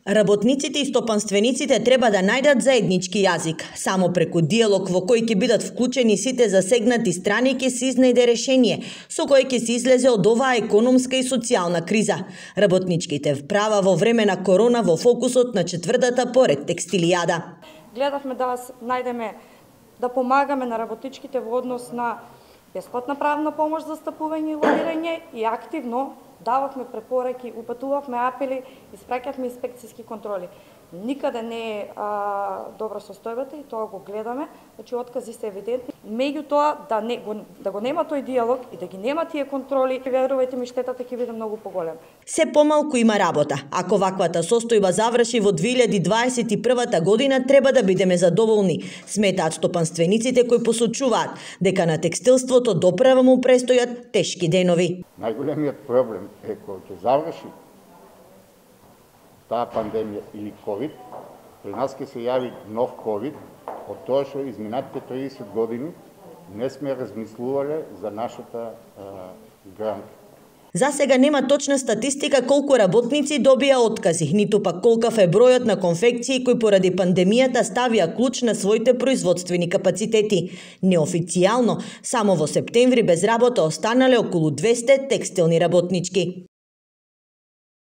Работниците и стопанствениците треба да најдат заеднички јазик. Само преку диалог во кој ќе бидат вклучени сите засегнати страни ќе се изнајде решение, со кое ќе се излезе од оваа економска и социјална криза. Работничките права во време на корона во фокусот на четвртата поред текстилијада. Гледавме да најдеме да помагаме на работничките во однос на бесплатна правна помош за стапување и лобирање и активно дававме препораки, упатувавме апели, испраќавме инспекцијски контроли. Никаде не е добра состојбата и тоа го гледаме, значи откази се евидентни. Меѓутоа да го нема тој диалог и да ги нема тие контроли, верувајте ми, штетата ќе биде многу поголема. Се помалку има работа. Ако ваквата состојба заврши во 2021 година, треба да бидеме задоволни, сметаат стопанствениците кои посочуваат дека на текстилството доправа му престојат тешки денови. Најголемиот проблем е кога ќе заврши таа пандемија или ковид, при нас ќе се јави нов ковид, од тоа што изминатите 30 години не сме размислувале за нашата гранка. За сега нема точна статистика колку работници добија откази, ниту пак колкав е бројот на конфекции кои поради пандемијата ставија клуч на своите производствени капацитети. Неофицијално, само во септември без работа останале околу 200 текстилни работнички.